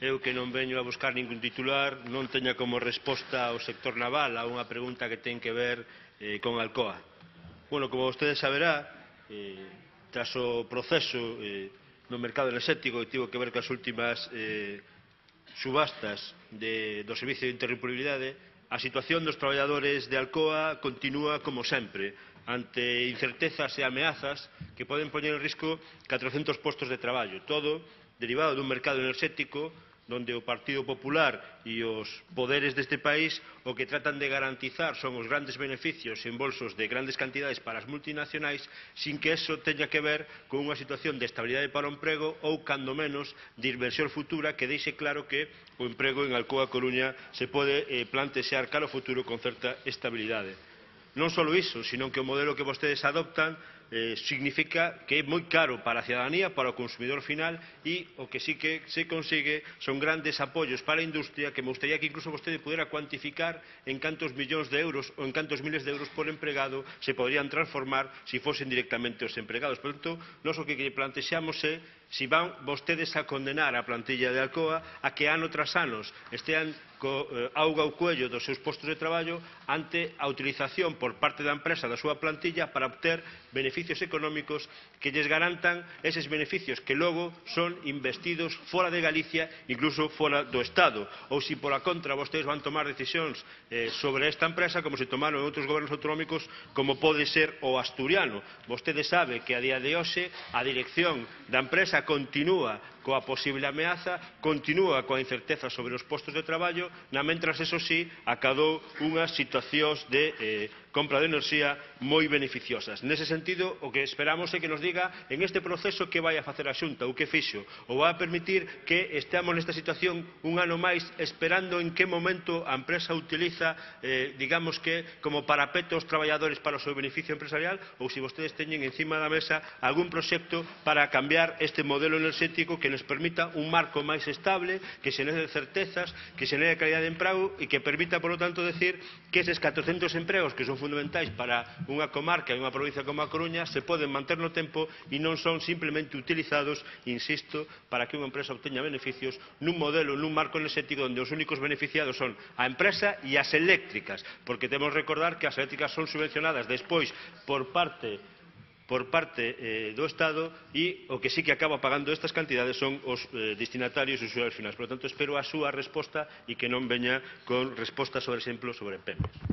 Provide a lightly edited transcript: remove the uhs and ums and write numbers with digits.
Eu que non veño a buscar ningún titular, non teña como resposta o sector naval a unha pregunta que ten que ver con Alcoa. Bueno, como vostede saberá, tras o proceso no mercado enerxético que tivo que ver coas últimas subastas do Servicio de Interrumpibilidade, a situación dos traballadores de Alcoa continúa como sempre, ante incertezas e ameazas que poden poñer en risco 400 postos de traballo, todo derivado dun mercado enerxético donde o Partido Popular e os poderes deste país o que tratan de garantizar son os grandes beneficios en bolsos de grandes cantidades para as multinacionais sin que eso teña que ver con unha situación de estabilidade para o emprego ou, cando menos, de inversión futura que deixe claro que o emprego en Alcoa Coruña se pode plantexar cara ao futuro con certa estabilidade. Non só iso, sino que o modelo que vostedes adoptan significa que é moi caro para a cidadanía, para o consumidor final e o que sí que se consigue son grandes apoios para a industria que me gustaría que incluso vostede pudera cuantificar en cantos millóns de euros ou en cantos miles de euros por empregado se poderían transformar se fosen directamente os empregados. Por tanto, nós o que plantexamos é se van vostedes a condenar a plantilla de Alcoa a que ano tras anos estean co auga ao cuello dos seus postos de traballo ante a utilización por parte da empresa da súa plantilla para obter beneficios económicos que lles garantan eses beneficios que logo son investidos fora de Galicia, incluso fora do Estado. Ou se por a contra vostedes van tomar decisións sobre esta empresa como se tomaron en outros gobernos autonómicos como pode ser o asturiano. Vostede sabe que a día de hoxe a dirección da empresa continúa coa posible ameaza, continúa coa incerteza sobre os postos de traballo, mentras, eso sí, acadou unhas situacións de compra de enerxía moi beneficiosas. Nese sentido, o que esperamos é que nos diga en este proceso que vai a facer a Xunta ou que fixo, ou vai a permitir que esteamos nesta situación un ano máis esperando en que momento a empresa utiliza, digamos que, como parapeto os traballadores para o seu beneficio empresarial, ou se vostedes teñen encima da mesa algún proxecto para cambiar este modelo enerxético que nos permita un marco máis estable, que xenere certezas, que xenere calidad de emprego e que permita, por lo tanto, decir que eses 400 empregos que son fundamentais para unha comarca e unha provincia como a Coruña se poden manter no tempo e non son simplemente utilizados, insisto, para que unha empresa obteña beneficios nun modelo, nun marco enerxético onde os únicos beneficiados son a empresa e as eléctricas, porque temos que recordar que as eléctricas son subvencionadas despois por parte do Estado e o que sí que acaba pagando estas cantidades son os destinatarios e usuarios finais. Por lo tanto, espero a súa resposta e que non veña con respostas, por exemplo, sobre PEMES.